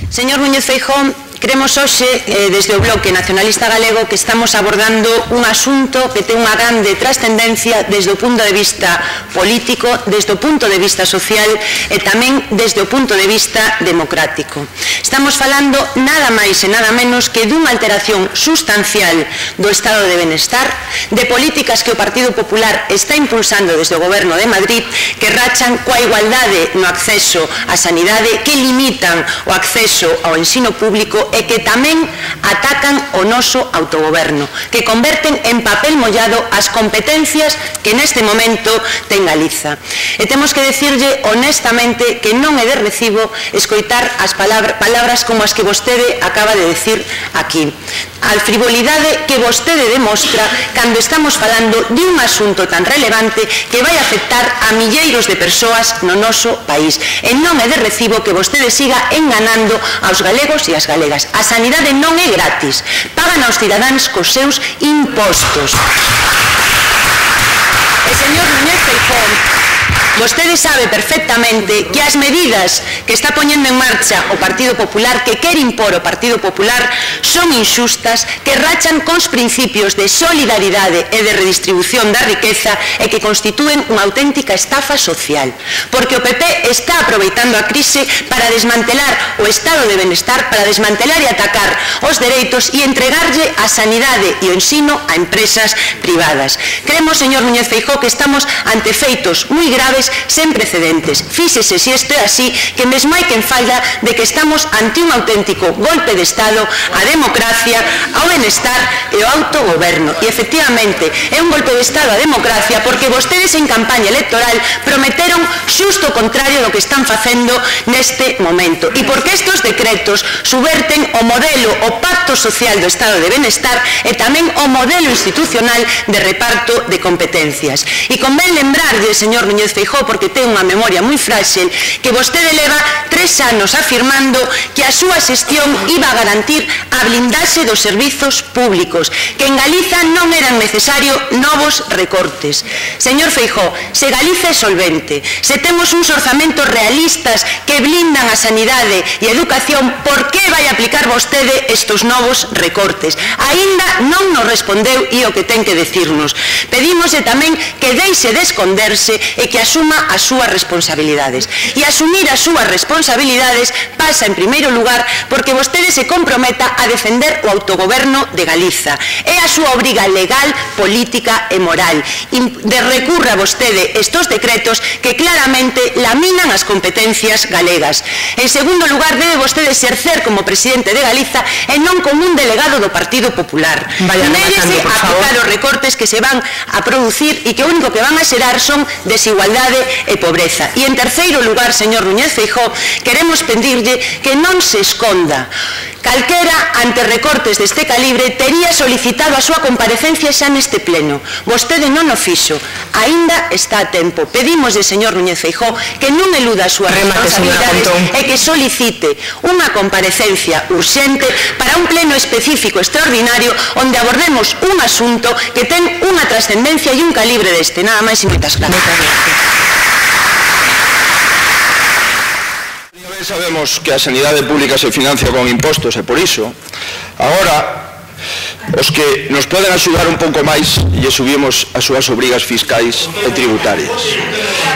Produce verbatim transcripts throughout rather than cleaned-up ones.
Señor Núñez Feijóo, cremos hoxe, eh, desde o Bloque Nacionalista Galego, que estamos abordando un asunto que ten unha grande trascendencia desde o punto de vista político, desde o punto de vista social e tamén desde o punto de vista democrático. Estamos falando nada máis e nada menos que dunha alteración sustancial do estado de benestar, de políticas que o Partido Popular está impulsando desde o Goberno de Madrid, que rachan coa igualdade no acceso á sanidade, que limitan o acceso ao ensino público e que tamén atacan o noso autogoberno, que converten en papel mollado as competencias que neste momento ten Galiza. E temos que decirlle honestamente que non é de recibo escoitar as palabras como as que vostede acaba de decir aquí. A frivolidade que vostede demostra cando estamos falando de un asunto tan relevante que vai afectar a milleiros de persoas no noso país. E non é de recibo que vostede siga enganando aos galegos e as galegas. A sanidade non é gratis, pagan aos cidadáns cos seus impostos. E, señor Núñez Feijóo, vostede sabe perfectamente que as medidas que está poñendo en marcha o Partido Popular, que quere impor o Partido Popular, son inxustas, que rachan cos principios de solidaridade e de redistribución da riqueza e que constitúen unha auténtica estafa social. Porque o P P está aproveitando a crise para desmantelar o estado de benestar, para desmantelar e atacar os dereitos e entregarlle a sanidade e o ensino a empresas privadas. Creemos, señor Núñez Feijóo, que estamos ante feitos moi graves sen precedentes. Fíxese se isto é así, que mesmo hai quen fala de que estamos ante un auténtico golpe de Estado á democracia, ao benestar e ao autogoberno. E, efectivamente, é un golpe de Estado á democracia porque vostedes en campaña electoral prometeron xusto o contrario do que están facendo neste momento. E porque estes decretos subverten o modelo, o pacto social do Estado de benestar e tamén o modelo institucional de reparto de competencias. E convén lembrarlle, señor Núñez Feijóo, porque ten unha memoria moi frágil, que vostede leva tres anos afirmando que a súa xestión iba a garantir a blindaxe dos servizos públicos, que en Galiza non eran necesarios novos recortes. Señor Feijóo, se Galiza é solvente, se temos uns orzamentos realistas que blindan a sanidade e a educación, por que vai aplicar vostede estes novos recortes? Aínda non nos respondeu e o que ten que decirnos. Pedímoslle tamén que deixe de esconderse e que asuma as súas responsabilidades. E asumir as súas responsabilidades pasa, en primeiro lugar, porque vostede se comprometa a defender o autogoberno de Galiza. É a súa obriga legal, política e moral. De recurra vostede estes decretos que claramente laminan as competencias galegas. En segundo lugar, debe vostede exercer como presidente de Galiza e non como un delegado do Partido Popular. Nérese a aplicar os recortes que se van a producir e que o único que van a xerar son desigualdade e pobreza. E en terceiro lugar, señor Núñez Feijóo, queremos pedirlle que non se esconda. Calquera, ante recortes deste calibre, tería solicitado a súa comparecencia xa neste pleno. Vostede non o fixo. Aínda está a tempo. Pedimoslle, señor Núñez Feijóo, que non eluda as súas responsabilidades e que solicite unha comparecencia urxente para un pleno específico extraordinario onde abordemos un asunto que ten unha trascendencia e un calibre deste. Nada máis e moitas gracias. Sabemos que a sanidade pública se financia con impostos e por iso agora os que nos poden axudar un pouco máis lle subimos as súas obrigas fiscais e tributarias.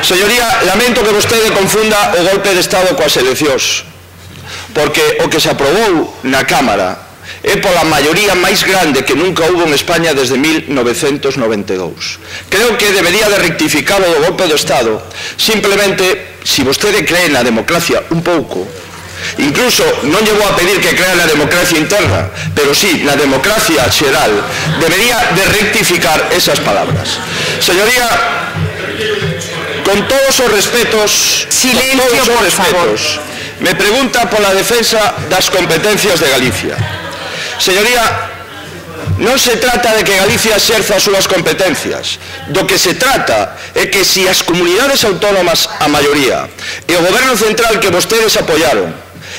Señoría, lamento que vostede confunda o golpe de Estado coas eleccións, porque o que se aprobou na Cámara é pola maioría máis grande que nunca houbo en España desde mil novecentos noventa e dous. Creo que debería de rectificar o golpe do Estado. Simplemente, si vostede cree na democracia un pouco, incluso non llevou a pedir que crea na democracia interna, pero sí na democracia xeral, debería de rectificar esas palabras. Señoría, con todos os respetos, silencio, por favor, me pregunta pola defensa das competencias de Galicia. Señoría, non se trata de que Galicia exerza as súas competencias. Do que se trata é que se as comunidades autónomas, a maioría, e o goberno central que vostedes apoiaron,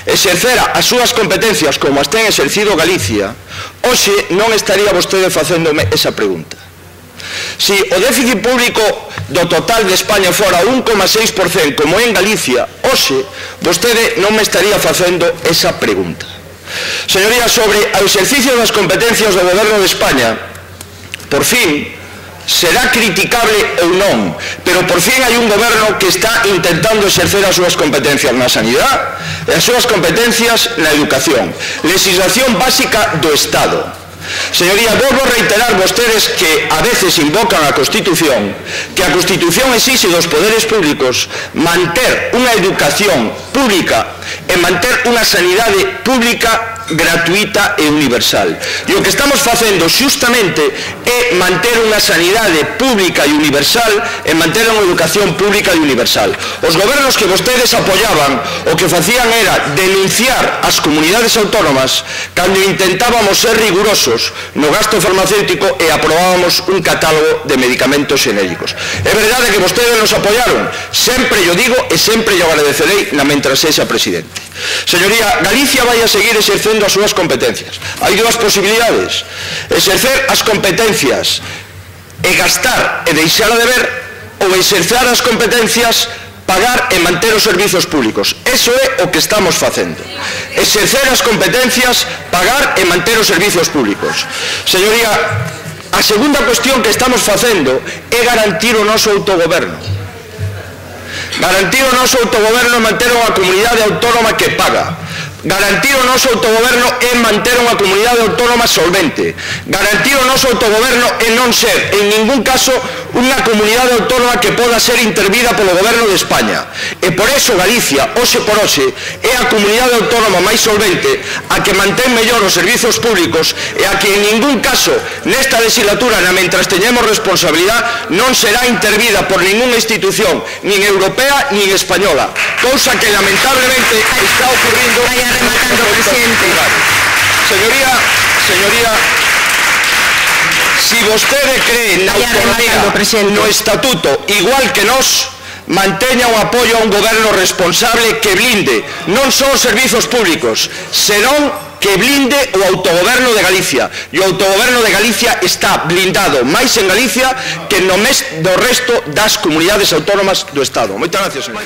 exercera as súas competencias como as ten exercido Galicia, hoxe non estaría vostede facéndome esa pregunta. Si o déficit público do total de España fora un coma seis por cento como en Galicia, hoxe, vostede non me estaría facendo esa pregunta. Señoría, sobre o exercicio das competencias do Goberno de España, por fin, será criticable ou non, pero por fin hai un goberno que está intentando exercer as súas competencias na sanidade e as súas competencias na educación, legislación básica do Estado. Señoría, volvo a reiterar vostedes que a veces invocan a Constitución, que a Constitución exixe dos poderes públicos manter unha educación pública e manter unha sanidade pública gratuita e universal. E o que estamos facendo xustamente é manter unha sanidade pública e universal e manter unha educación pública e universal. Os gobernos que vostedes apoyaban o que facían era denunciar as comunidades autónomas cando intentábamos ser rigurosos no gasto farmacéutico e aprobábamos un catálogo de medicamentos xenéricos. É verdade que vostedes nos apoyaron, sempre yo digo e sempre yo agradecerei na mentras sexa presidente. Señoría, Galicia vai a seguir exercendo as súas competencias. Hai dúas posibilidades: exercer as competencias e gastar e deixar de ver, ou exercer as competencias, pagar e manter os servizos públicos. Eso é o que estamos facendo. Exercer as competencias, pagar e manter os servizos públicos. Señoría, a segunda cuestión que estamos facendo é garantir o noso autogoberno. Garantir o noso autogoberno e manter unha comunidade autónoma que paga. Garantir o noso autogoberno é manter unha comunidade autónoma solvente. Garantir o noso autogoberno é non ser, en ningún caso, unha comunidade autónoma que poda ser intervida polo goberno de España. E por eso Galicia, hoxe por hoxe, é a comunidade autónoma máis solvente, a que mantén mellor os servizos públicos e a que en ningún caso, nesta legislatura, na mentras teñemos responsabilidade, non será intervida por ninguna institución, nin europea, nin española. Cousa que lamentablemente está ocurrindo. Rematando, presidente. Señoría, señoría, si vostede cree na autonomía, no estatuto, igual que nós, manteña o apoio a un goberno responsable que blinde non só os servizos públicos, senón que blinde o autogoberno de Galicia. E o autogoberno de Galicia está blindado máis en Galicia que no mes do resto das comunidades autónomas do Estado. Moitas gracias, señor.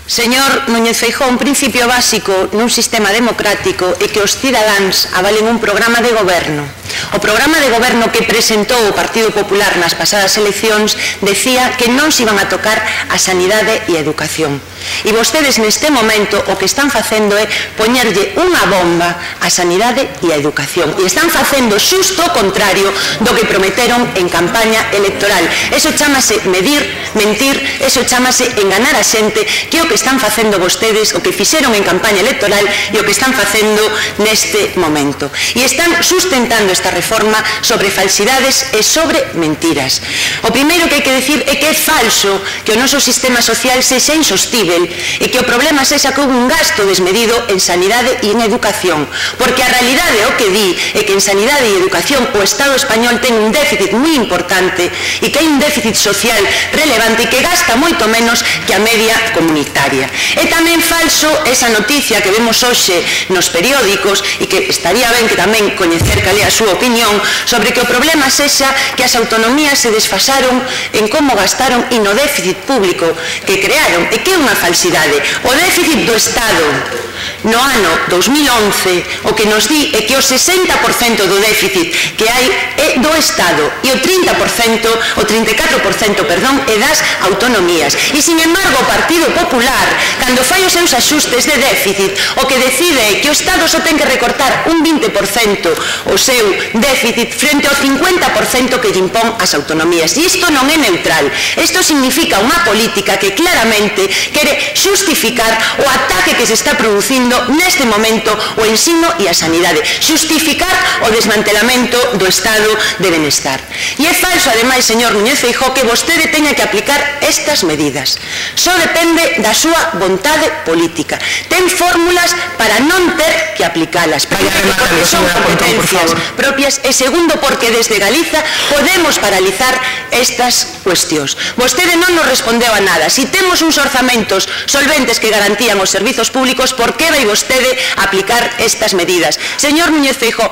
Señor Núñez Feijóo, un principio básico nun sistema democrático é que os cidadáns avalen un programa de goberno. O programa de goberno que presentou o Partido Popular nas pasadas eleccións decía que non se iban a tocar a sanidade e a educación. E vostedes neste momento o que están facendo é poñerlle unha bomba á sanidade e á educación. E están facendo xusto o contrario do que prometeron en campaña electoral. Eso chámase medir, mentir, eso chámase enganar a xente, que é o que están facendo vostedes, o que fixeron en campaña electoral e o que están facendo neste momento. E están sustentando esta reforma sobre falsidades e sobre mentiras. O primeiro que hai que decir é que é falso que o noso sistema social sexa insostível e que o problema sexa que houve un gasto desmedido en sanidade e en educación, porque a realidade o que di é que en sanidade e educación o Estado español ten un déficit moi importante e que hai un déficit social relevante e que gasta moito menos que a media comunitaria. É tamén falso esa noticia que vemos hoxe nos periódicos e que estaría ben que tamén coñecer cal é a súa opinión sobre que o problema sexa que as autonomías se desfasaron en como gastaron e no déficit público que crearon, e que é unha falsidade. O déficit do Estado no ano dos mil once o que nos di é que o sesenta por cento do déficit que hai é do Estado e o trinta por cento, o trinta e catro por cento, perdón, é das autonomías. E, sin embargo, o Partido Popular, cando fai os seus axustes de déficit, o que decide é que o Estado só ten que recortar un vinte por cento o seu déficit frente ao cincuenta por cento que lle impón as autonomías. E isto non é neutral. Isto significa unha política que claramente quere xustificar o ataque que se está producindo neste momento o ensino e a sanidade, xustificar o desmantelamento do Estado de Benestar. E é falso, ademais, señor Núñez Feijóo, que vostede teña que aplicar estas medidas. Só depende da súa vontade política. Ten fórmulas para non ter que aplicalas. Primeiro, porque son competencias propias, e segundo, porque desde Galiza podemos paralizar estas cuestións. Vostede non nos respondeu a nada. Si temos uns orzamentos solventes que garantían os servizos públicos, por que vai vai vostede aplicar estas medidas. Señor Núñez Feijóo,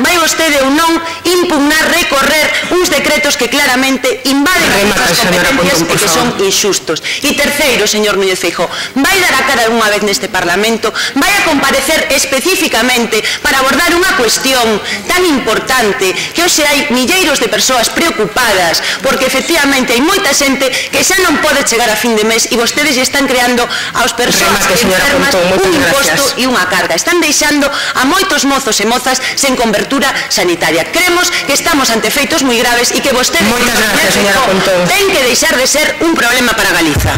vai vostede ou non impugnar, recorrer uns decretos que claramente invaden as competencias e que son inxustos. E terceiro, señor Núñez Feijóo, vai dar a cara unha vez neste Parlamento, vai a comparecer especificamente para abordar unha cuestión tan importante que hoxe hai milleiros de persoas preocupadas porque efectivamente hai moita xente que xa non pode chegar a fin de mes e vostedes lle están creando aos persoas enfermas un imposto e unha carga. Están deixando a moitos mozos e mozas sen cobertura sanitaria. Creemos que estamos ante feitos moi graves e que vostedes ten que deixar de ser un problema para Galiza.